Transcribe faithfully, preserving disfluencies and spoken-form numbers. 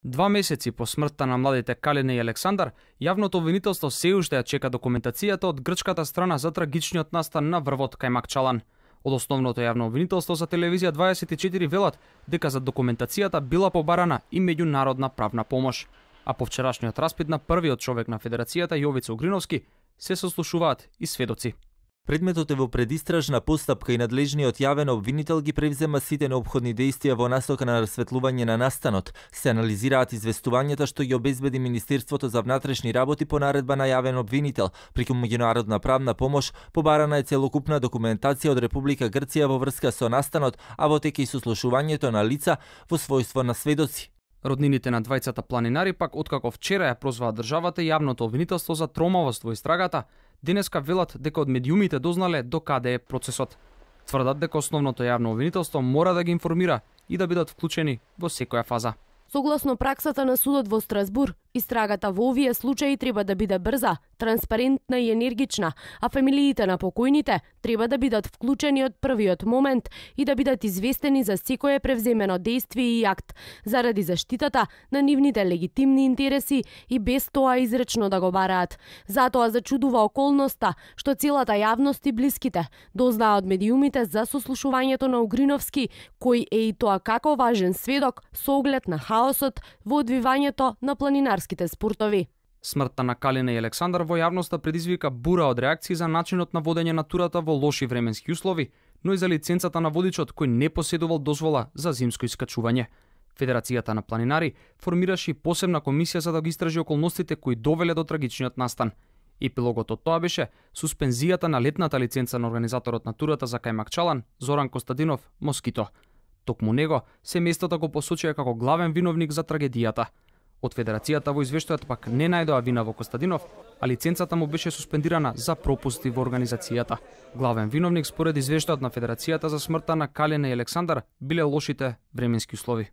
Два месеци по смртта на младите Калина и Александар, јавното обвинителство се уште ја чека документацијата од грчката страна за трагичниот настан на врвот кај Макчалан. Од основното јавно обвинителство за телевизија дваесет и четири велат дека за документацијата била побарана и меѓународна правна помош. А по вчерашниот распит на првиот човек на Федерацијата Јовица Угриновски се сослушуваат и сведоци. Предметот е во предистражна постапка и надлежниот јавен обвинител ги превзема сите неопходни действија во насока на расветлување на настанот. Се анализираат известувањата што ги обезбеди Министерството за внатрешни работи по наредба на јавен обвинител. Преку меѓународна правна помош побарана е целокупна документација од Република Грција во врска со настанот, а во тек и сослушувањето на лица во својство на сведоци. Роднините на двајцата планинари пак откако вчера ја прозваа државата и јавното обвинителство за тромавост во истрагата, денеска велат дека од медиумите дознале до каде е процесот. Тврдат дека основното јавно обвинителство мора да ги информира и да бидат вклучени во секоја фаза. Согласно праксата на судот во Страсбур, истрагата во овие случаи треба да биде брза, транспарентна и енергична, а фамилиите на покојните треба да бидат вклучени од првиот момент и да бидат известени за секое превземено действие и акт, заради заштитата на нивните легитимни интереси и без тоа изречно да го бараат. Затоа зачудува околноста што целата јавност и блиските дознаа од медиумите за сослушувањето на Угриновски, кој е и тоа како важен сведок со оглед на хаосот во одвивањето на планинарските спортови. Смртта на Калина и Александар во јавноста предизвика бура од реакции за начинот на водење на турата во лоши временски услови, но и за лиценцата на водичот кој не поседувал дозвола за зимско искачување. Федерацијата на планинари формираше посебна комисија за да ги истражи околностите кои довеле до трагичниот настан. Епилогот од тоа беше суспензијата на летната лиценца на организаторот на турата за кај Макчалан, Зоран Костадинов, Москито. Токму него, семејството го посочија како главен виновник за трагедијата. Од Федерацијата во извештајот пак не најдоа вина во Костадинов, а лиценцата му беше суспендирана за пропусти во организацијата. Главен виновник според извештајот на Федерацијата за смртта на Калина и Александар биле лошите временски услови.